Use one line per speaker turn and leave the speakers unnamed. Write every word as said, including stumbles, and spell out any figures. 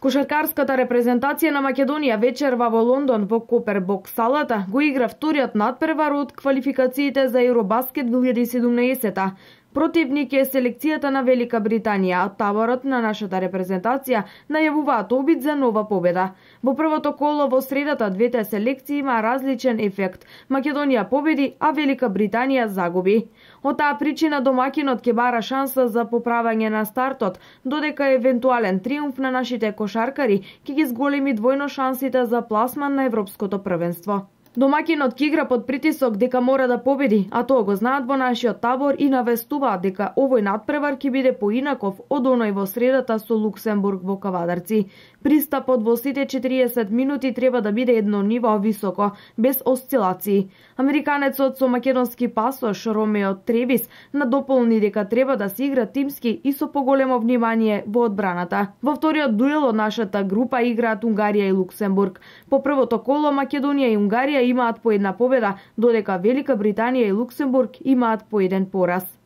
Кошаркарската репрезентација на Македонија вечерва во Лондон во Копер бокс салата го игра вториот надпревар од квалификациите за Евробаскет две илјади и седумнаесета. Противник е селекцијата на Велика Британија, а таборот на нашата репрезентација најавуваат обид за нова победа. Во првото коло во средата двете селекции има различен ефект. Македонија победи, а Велика Британија загуби. Од таа причина домакинот ќе бара шанса за поправање на стартот, додека евентуален триумф на нашите кошаркари ќе ги зголеми двојно шансите за пласман на европското првенство. Домакинот ќе игра под притисок дека мора да победи, а тоа го знаат во нашиот табор и навестуваат дека овој надпревар ќе биде поинаков од оној во средата со Луксембург во Кавадарци. Пристапот во сите четириесет минути треба да биде едно ниво високо, без осцилации. Американецот со македонски пасош Ромео Тревис надополни дека треба да се игра тимски и со поголемо внимание во одбраната. Во вториот дуел од нашата група играат Унгарија и Луксембург. По првото коло Македонија и Унгарија имаат по една победа, додека Велика Британија и Луксембург имаат по еден пораз.